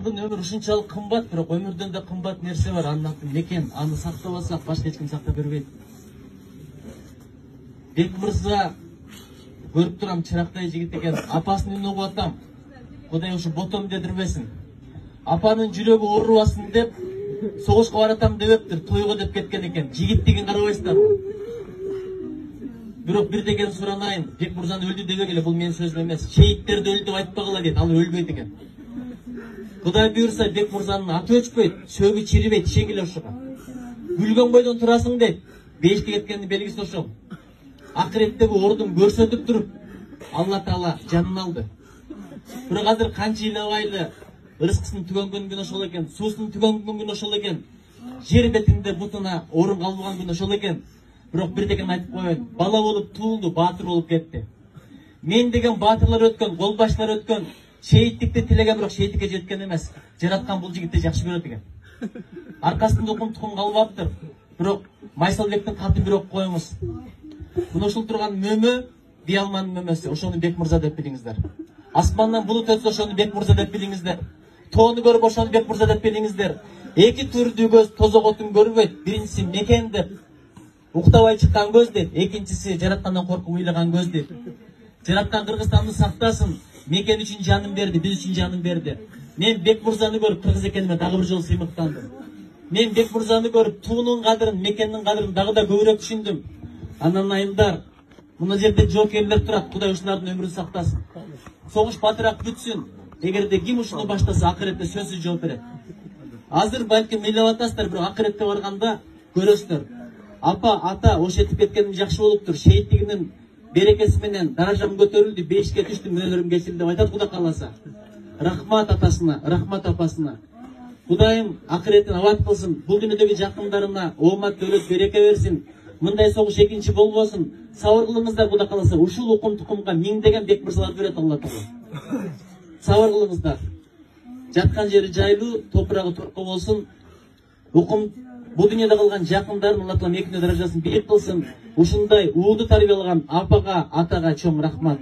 Адамдын өмүрү ушунчалык кымбат, бирок өмүрдөн да кымбат нерсе бар, анын аты мекен. Аны сактабасак башка эч ким сактап бербейт. Бек мырза көрүп турам, чырактай жигит экен. Апасынын үнүн угуп атам. Кудай ушу ботом дедирбесин. Апанын жүрөгү оорубасын деп согушка баратам дебептир, тойго деп кеткен экен. Жигиттигин карабайсыздарбы? Бирок бир деген суранайын, Бек мырзаны өлдү дебегиле, бул менин сөзүм эмес. Шейиттерди өлдү деп айтпагыла дейт, ал өлбөйт экен. Кудай буйрса Бек мырзанын аты өчпөйт, сөгү чирибейт, ишенгиле ошого. Күлгөн бойдон турасың дейт, бейишке кеткендин белгиси ошол. Акыреттеги ордун көрсөтүп туруп, Алла Таала жанын алды. Бирок азыр канча ыйлабайлы ырыскысынын түгөнгөн күнү ошол экен, суусунун түгөнгөн күнү ошол экен, жер бетинде бутуна орун калбаган күнү ошол экен. Бирок бир деген айтып коеюн, бала болуп туулду, баатыр болуп кетти. Мен деген баатырлар өткөн, колбаштар өткөн, шейиттикти тилеген, бирок шейиттикке жеткен эмес. Жараткан бул жигитти жакшы көрөт экен. Аркасында укум тукум калбаптыр. Бирок Майсалбектин катын бир окуп коюңуз. Мына ушул турган мөмө Биялманын мөмөсү, ошону Бек мырза деп билиңиздер. Асмандан булут өтсө ошону Бек мырза деп билиңиздер. Тоону көрүп ошону Бек мырза деп билиңиздер. Эки түрдүү көз тозоготун көрбөйт. Биринчиси мекен деп уктабай чыккан көз дейт, экинчиси жараткандан коркуп ыйлаган көз дейт. Жараткан Кыргызстанды сактасын, мекен үчүн жанын берди, биз үчүн жанын берди. Мен Бек мырзаны көрүп кыргыз экениме дагы бир жолу сыймыктандым. Мен Бек мырзаны көрүп туунун кадырын, мекендин кадырын дагы да көбүрөөк түшүндүм. Анан айымдар, мына жерде жоокерлер турат, Кудай ушулардын өмүрүн сактасын. Согуш батыраак бүтсүн. Эгерде ким ушуну баштаса, акыретте сөзсүз жооп берет. Азыр балким ыйлап атасыздар, бирок акыретте барганда көрөсүздөр. Апа, ата, ош этип кеткеним жакшы болуптур. Шейиттигинин берекеси менен даражам көтөрүлдү, бейишке түштүм, мүнөлөрүм кечирилди деп айтат Кудай кааласа. Рахмат атасына, рахмат апасына. Кудайым акыретин абад кылсын, бул дүйнөдөгү жакындарына оомат, дөөлөт, береке берсин. Мындай согуш экинчи болбосун. Сабыр кылыңыздар Кудай кааласа. Ушул укум тукумга миңдеген Бек мырзалар берет Алла Таала. Сабыр кылыңыздар. Жаткан жери жайлуу, топурагы турку болсун. Укум бул дүйнөдө калган жакындарын Алла Таала мекине даражасын бийик кылсын. Ушундай уулду тарбиялаган апага, атага чоң рахмат.